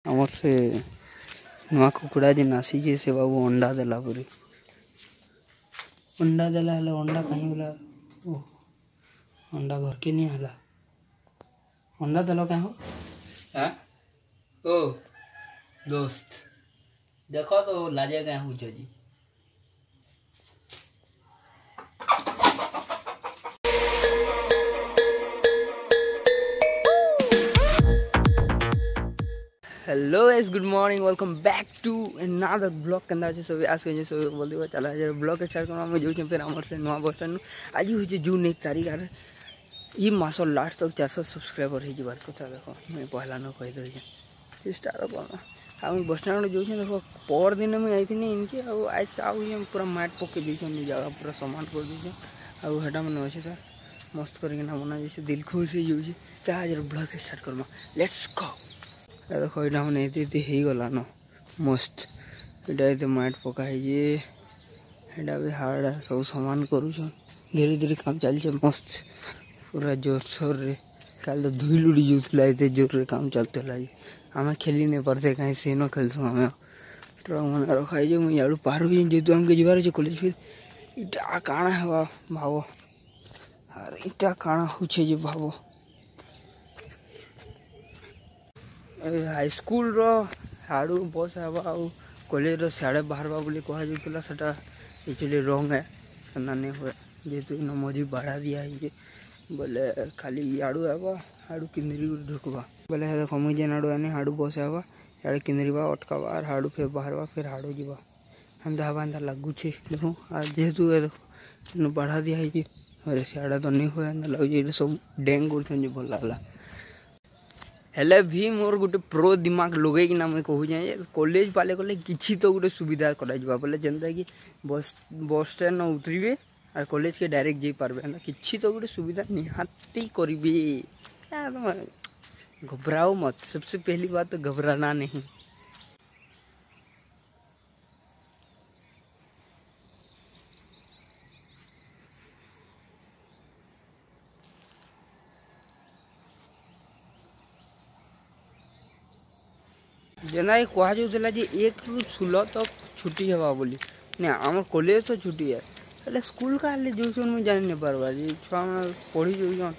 ଆମର ସେ ନୂଆ କୁକୁଡ଼ା ଯେନ୍ ଆସିଛେ ସେ ବାବୁ ଅଣ୍ଡା ଦେଲା ପରେ ଅଣ୍ଡା ଦେଲା ହେଲେ ଅଣ୍ଡା କାହିଁ ଗଲା? ଓ ଅଣ୍ଡା ଘରକେ ନି ହେଲା। ଅଣ୍ଡା ଦେଲ କାଁ ହୋ? ଓ ଦୋସ୍ତ ଦେଖ ତ ଲାଜେ କାଁ ହଉଛ जी। Hello guys, good morning, welcome back to another blog. କେନ୍ତା ଅଛି ସବୁ? ଆସ ଯେ ସବୁ ବୋଲଦେବ। ଚାଲ ଆଜି ବ୍ଲଗ ଷ୍ଟାର୍ଟ କରମା। ଆମେ ଯାଉଛେ ଫେର୍ ଆମର ସେ ନୂଆ ବସ୍ ଷ୍ଟାଣ୍ଡ। ଆଜି ହେଉଛି ଜୁନ୍ 1 ତାରିଖ ଆର୍ ଇ ମାସ ଲାଷ୍ଟ ତକ୍ 400 ସବସ୍କ୍ରାଇବର ହେଇଯିବାର କଥା। ଦେଖ ମୁଇଁ ପହଲା ନ କହିଦେଉଛେ, ଚେଷ୍ଟା କର୍ମା। ଆଉ ମୁଇଁ ବସ୍ ଷ୍ଟାଣ୍ଡ ଯାଉଛେ। ଦେଖ ପର ଦିନ ମୁଇଁ ଯାଇଥିଲି ଇନକେ, ଆଉ ଆଜ ଆଉ ପୁରା ମାଟ୍ ପକେଇ ଦେଇଛନ୍, ଜାଗା ପୁରା ସମାନ କରିଦେଇଛନ୍। ଆଉ ହେଟା ମାନେ ଅଛେ ତ ମସ୍ତ କରିକିନା ବନା ଯାଇଛେ, ଦିଲ ଖୁସ୍ ହେଇଯାଉଛି। ତା ଆଜିର ବ୍ଲଗ ଷ୍ଟାର୍ଟ କର୍ମା, let's go. ଦେଖ ଏଇଟା ମାନେ ଏତେ ଏତେ ହେଇଗଲାନ ମସ୍ତ। ଏଇଟା ଏତେ ମାଟ୍ ପକା ହେଇଛେ, ଏଇଟା ବି ହାର୍ଡ ସବୁ ସମାନ କରୁଛନ୍। ଧୀରେ ଧୀରେ କାମ ଚାଲିଛେ ମସ୍ତ ପୁରା ଜୋରସୋରରେ। କାଲି ତ ଧୁଇ ଲୁଡ଼ି ଯାଉଥିଲା, ଏତେ ଜୋରରେ କାମ ଚାଲୁଥିଲା ଯେ ଆମେ ଖେଲି ନାଇଁ ପାରୁଥେ, କାହିଁ ସେନ ଖେଲସୁଁ ଆମେ। ଟ୍ରକ୍ ମାନେ ରଖା ହେଇଛେ। ମୁଇଁ ଇଆଡ଼ୁ ପାର ହେଇଛେ, ଯେହେତୁ ଆମକେ ଯିବାର ଅଛି କଲେଜ। ଫିର୍ ଇଟା କାଣା ହେବା ଭାବ, ଆର୍ ଇଟା କାଣା ହଉଛେ ଯେ ଭାବ। ହାଇସ୍କୁଲର ହାଡ଼ୁ ବସ୍ ହେବା ଆଉ କଲେଜର ସିଆଡ଼େ ବାହାରବା ବୋଲି କୁହାଯାଉଥିଲା, ସେଟା ଆକ୍ଚୁଆଲି ରଙ୍ଗ ହେ, ସେନା ନାଇଁ ହୁଏ। ଯେହେତୁ ଇନ ମଝି ବାଡ଼ା ଦିଆ ହେଇଛେ ବୋଲେ ଖାଲି ଇଆଡ଼ୁ ହେବା, ହାଡ଼ୁ କିନ୍ଦିରି କରି ଢୁକବା ବୋଲେ। ଦେଖ ମୁଇଁ ଯେନ୍ ଆଡ଼ୁ ଆନି ହାଡ଼ୁ ବସ୍ ହେବା, ଇଆଡ଼େ କିନ୍ଦିରିବା, ଅଟକାବା ଆର୍ ହାଡ଼ୁ ଫେର୍ ବାହାରବା, ଫେର୍ ହାଡ଼ୁ ଯିବା, ହେନ୍ତା ହେବା ହେନ୍ତା ଲାଗୁଛେ। ଦେଖ ଆର୍ ଯେହେତୁ ଦେଖ ଇନ ବାଢ଼ା ଦିଆ ହେଇଛେ, ଆରେ ସିଆଡ଼େ ତ ନାଇଁ ହୁଏ ହେନ୍ତା ଲାଗୁଛେ। ଏଇଟା ସବୁ ଡେଙ୍ଗ କରୁଛନ୍ ଯେ ଭଲ ଲାଗଲା। ହେଲେ ଭି ମୋର୍ ଗୋଟେ ପ୍ରୋ ଦିମାଗ ଲଗେଇକିନା ମୁଇଁ କହୁଛେଁ ଯେ କଲେଜ ପାଲେ ଗଲେ କିଛି ତ ଗୋଟେ ସୁବିଧା କରାଯିବା ବୋଲେ, ଯେନ୍ତାକି ବସ୍ ଷ୍ଟାଣ୍ଡ ଉତରିବେ ଆର୍ କଲେଜକେ ଡାଇରେକ୍ଟ ଯାଇପାରବେ। ହେନ୍ତା କିଛି ତ ଗୋଟେ ସୁବିଧା ନିହାତି କରିବେ। घबराओ मत, सबसे पहली बात तो घबराना नहीं। ଯେନ୍ତାକି କୁହାଯାଉଥିଲା ଯେ 1ରୁ 16 ତକ୍ ଛୁଟି ହେବା ବୋଲି, ନା ଆମର କଲେଜ ତ ଛୁଟି ହେ, ହେଲେ ସ୍କୁଲ କାହେଲେ ଯାଉଛନ୍ ମୁଇଁ ଜାଣି ନାଇଁ ପାରବା ଯେ। ଛୁଆମାନେ ପଢ଼ି ଯାଉଛନ୍,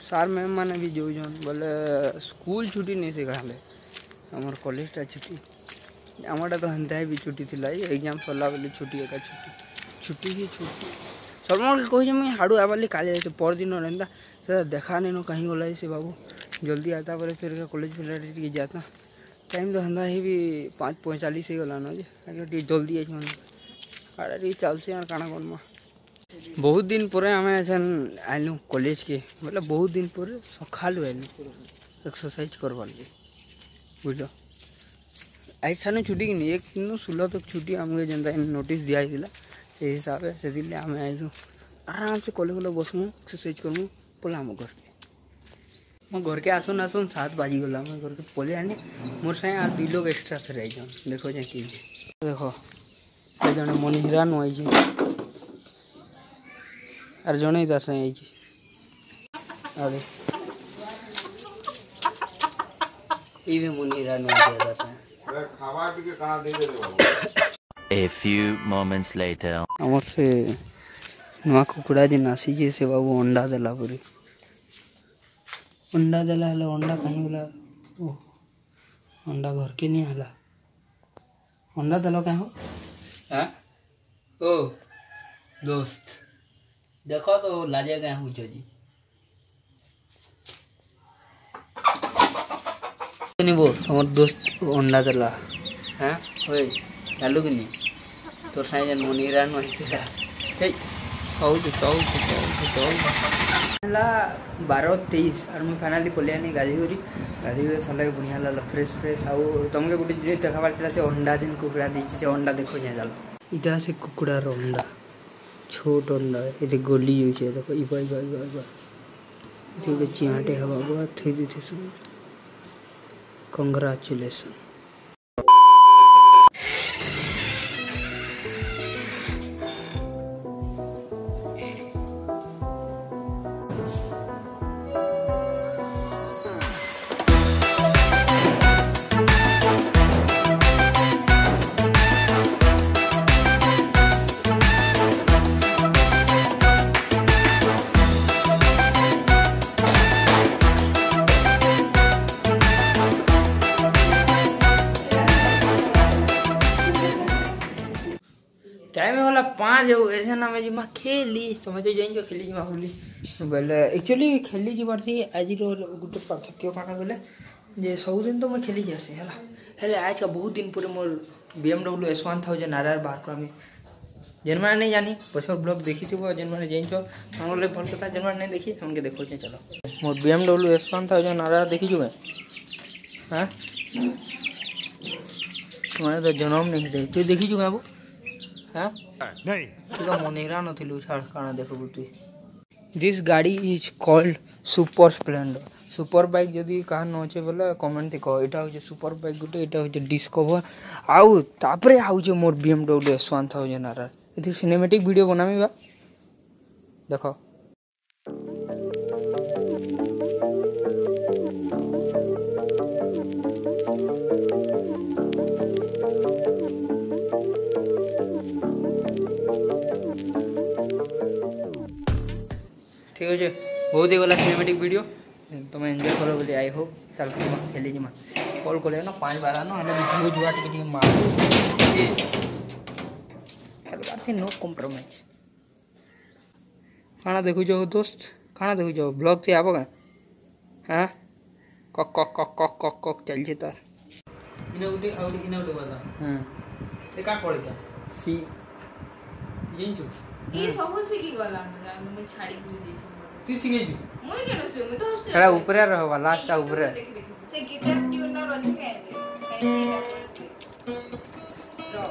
ସାର୍ ମ୍ୟାମ୍ ମାନେ ବି ଯାଉଛନ୍ ବୋଲେ ସ୍କୁଲ ଛୁଟି ନେଇ ସେ କାହେଲେ ଆମର କଲେଜଟା ଛୁଟି। ଆମରଟା ତ ହେନ୍ତା ବି ଛୁଟି ଥିଲା, ଏକ୍ଜାମ୍ ସରିଲା ବୋଲି ଛୁଟି ଏକା ଛୁଟି, ଛୁଟି ହିଁ ଛୁଟି। ସଲମାନକେ କହୁଛେ ମୁଇଁ ହାଡ଼ୁ ଆଇବା ବୋଲି, କାଲି ଯାଇଛେ ପରଦିନ ଏନ୍ତା ସେଟା ଦେଖା ନାଇଁନ, କାହିଁ ଗଲା ସେ ବାବୁ। ଜଲ୍ଦି ଆତା ପରେ ଫେର୍ କଲେଜ ଫେର୍ ଟିକେ ଯାତା। ଟାଇମ୍ ତ ହେନ୍ତା ହେଇ ବି 5:45 ହେଇଗଲାନ ଯେ ଟିକେ ଜଲ୍ଦି ଆଇଛନ୍। ଆଡ଼େ ଟିକେ ଚାଲ୍ସି ଆର୍ କାଣା କର୍ମା। ବହୁତ ଦିନ ପରେ ଆମେ ଏଛେନ୍ ଆଇଲୁ କଲେଜକେ, ବୋଲେ ବହୁତ ଦିନ ପରେ ସକାଳୁ ଆଇଲୁ ଏକ୍ସରସାଇଜ କରବାର୍ ଲାଗି, ବୁଝଲ। ଆଜି ସାନୁ ଛୁଟି କିନି 1 16 ତକ୍ ଛୁଟି ଆମକୁ ଯେନ୍ତା ନୋଟିସ୍ ଦିଆ ହେଇଥିଲା ସେଇ ହିସାବରେ, ସେଥିର୍ଲାଗି ଆମେ ଆଇସୁ। ଆରାମସେ କଲେ କଲେ ବସ୍ମୁ, ଏକ୍ସରସାଇଜ କର୍ମୁ, ପଲାମୁ ଘରକେ। ମୋ ଘରକେ ଆସୁନ୍ ଆସୁନ୍ 7 ବାଜିଗଲା। ମୁଇଁ ଘରକେ ପଲେଇ ଆନି, ମୋର୍ ସାଙ୍ଗେ ଆର୍ 2 ଲୋକ ଏକ୍ସଟ୍ରା ଫେର୍ ଆଇଛନ୍। ଦେଖ ଯେ କିଏ, ଦେଖ ସେ ଜଣେ ମନିହରା ନୁ ଆଇଛେ ଆର୍ ଜଣେ ତାର ସାଙ୍ଗେ ଆଇଛେ। ଆରେ ଇ ବି ମନିହରା ନୁ ଆଇଛେ ତାର ସାଙ୍ଗେ। ଖାଇବା ଟିକେ କାଣା ଦେଇଦେଲେ ବାବୁ। A few moments later. ଆମର ସେ ନୂଆ କୁକୁଡ଼ା ଯେନ୍ ଆସିଛେ ସେ ବାବୁ ଅଣ୍ଡା ଦେଲା ପରେ ଅଣ୍ଡା ଦେଲା ହେଲେ ଅଣ୍ଡା କାହିଁ ଗଲା? ଓ ଅଣ୍ଡା ଘରକେ ନି ହେଲା। ଅଣ୍ଡା ଦେଲ କାଁ ହୋ? ଓ ଦୋସ୍ତ ଦେଖ ତ ଲାଜେ କାଁ ହଉଛ जी। ନିବ ତମର ଦୋସ୍ତ ଅଣ୍ଡା ଦେଲା। ହଁ ଓଏ ଜାଲୁ କି ନି ତୋର ସାଙ୍ଗେ ଯେନ୍ ମନିରା ନ ହେଇଥିଲା। ହେଇ କହୁଛି କହୁଛି କହୁଛି କହୁଛି। ହେଲା 12:23 ଆର୍ ମୁଇଁ ଫାଇନାଲି ପଲେଇ ଆନି ଗାଧେଇ କରି। ଗାଧେଇ କରି ସରିଲା, ବଢ଼ିଆ ଲାଗଲା, ଫ୍ରେଶ୍ ଫ୍ରେଶ୍। ଆଉ ତମକେ ଗୋଟେ ଜିନିଷ ଦେଖାବାର ଥିଲା, ସେ ଅଣ୍ଡା ଯେନ୍ କୁକୁଡ଼ା ଦେଇଛି ସେ ଅଣ୍ଡା ଦେଖ ଯାଏ ଚାଲ। ଇଟା ସେ କୁକୁଡ଼ାର ଅଣ୍ଡା, ଛୋଟ ଅଣ୍ଡା, ଏତେ ଗଲି ଯାଉଛେ ଦେଖ। ଇବା ଇବା ଇବା ଇବା ଏଠି ଗୋଟେ ଚିଆଁଟେ ହେବା ଥୋଇ ଦେଇଥିସୁ। କଂଗ୍ରାଚୁଲେସନ୍। होला 5 हो ऐसे ना मैं जिमा खेली समझ जाइन खेली जिमा बोली बोले एक्चुअली खेली जिबार थी आज रो गुटे पार्थक्य काना बोले जे सब दिन तो मैं खेली जासे हला हेले आज का बहुत दिन पूरे मोर BMW S1000 RR बाहर करमी जेन माने नहीं जानी पछर ब्लॉग देखी थिबो जेन माने जाइन छो हमले भल कथा जेन माने नहीं देखी हमके देखो छे। चलो मोर BMW S1000 RR देखी छु हां तुम्हारे तो जन्म नहीं दे तू देखी छु बाबू हां नहीं तू तो मनेरा न थिलु छाड़ काना देखबु तू। This गाड़ी is called super Splendor super bike जदि कहा न छे बोले कमेंट ते कह एटा होछे सुपर बाइक गुटे एटा होछे डिस्कवर आउ तापरे आउ मोर BMW S1000 RR एथि सिनेमैटिक वीडियो बनामी बा देखो। ठीक है बहुत ही गला सिनेमैटिक वीडियो तुम एंजॉय करो बोली I hope. चल खेली जिमा कॉल करे ना 5 बार ना हेले झुआ झुआ टिके टिके मार खेलबार थी नो कॉम्प्रोमाइज। खाना देखु जो दोस्त खाना देखु जो ब्लॉग थी आबो का हां कक कक कक कक कक कक चल छे तार इने उठे आउट इने उठे बता हां ए का पड़े सी जिंचु ई सब सिकी गला न छाड़ी बुझ दे छी तू सिखे छु मुई केन से मुई तो खड़ा ऊपर रहबा लास्ट ऊपर से गिटार ट्यूनर अछि काहे काहे रो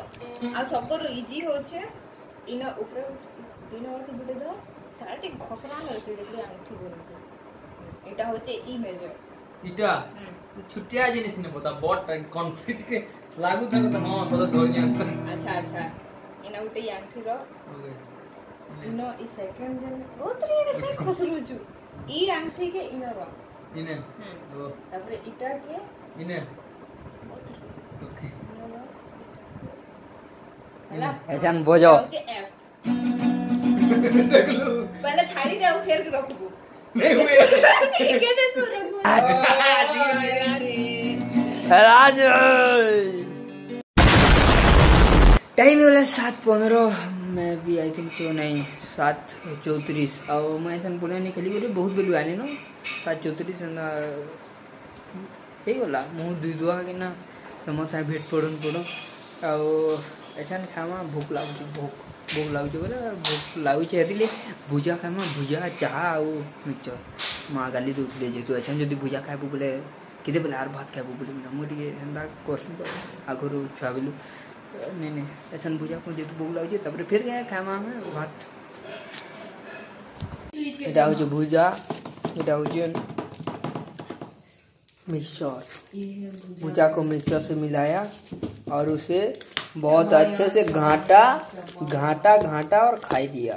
आ सबर इजी होछे इना ऊपर तीन और गुटे द सारा टे खसरा होछे देखली अंगूठी बने एटा होछे ई मेजर इटा छुटिया जिनिस ने बता बहुत कॉन्फ्लिक्ट के लागू था तो हां सदा धर जा। अच्छा अच्छा इना उते अंगूठी रो ओके इनो ई सेकंड जन ओतरी रे से खसरू छु ई अंगूठी के इनो रो इने ओ तापरे इटा के इने ओके हला एजान बजाओ एफ देखलो पहले छाड़ी दे फिर रखबो नहीं हुए केते सुरबो राज टाइम होला 7:15 मैं भी I think so नहीं 7:34 और मैं ऐसा पुणे नहीं खेली बोले बहुत बेलू आने नो 7:34 एंदा ହେଇଗଲା ମୁଁ ଦୁଇ ଦୁଆ କିନା ତମ ସାଙ୍ଗେ ଭେଟ ପଡ଼ୁନ ପଡ଼ ଆଉ ଏଛାନ୍ ଖାଇମା ଭୋକ ଲାଗୁଛି ଭୋକ ଭୋକ ଲାଗୁଛି ବୋଲେ ଭୋକ ଲାଗୁଛି ହେଥିଲେ ଭୁଜା ଖାଇମା ଭୁଜା ଚାହା ଆଉ ମିକ୍ସଚର୍ ମା ଗାଲି ଦେଉଥିଲେ ଯେହେତୁ ଏଛାନ୍ ଯଦି ଭୁଜା ଖାଇବୁ ବୋଲେ କେତେବେଲେ ଆର୍ ଭାତ ଖାଇବୁ ବୋଲେ ମୁଁ ଟିକେ ହେନ୍ତା କର୍ସି ତ ଆଗରୁ ଛୁଆ ବେଲୁ नहीं नहीं ऐसा भुजा को जेहेतु भोक लगे तब फिर गए खामा में भात। এটা হচ্ছে भुजा এটা হচ্ছে मिक्सचर। भुजा को मिक्सचर से मिलाया और उसे बहुत अच्छे से घाटा घाटा घाटा और खाई दिया।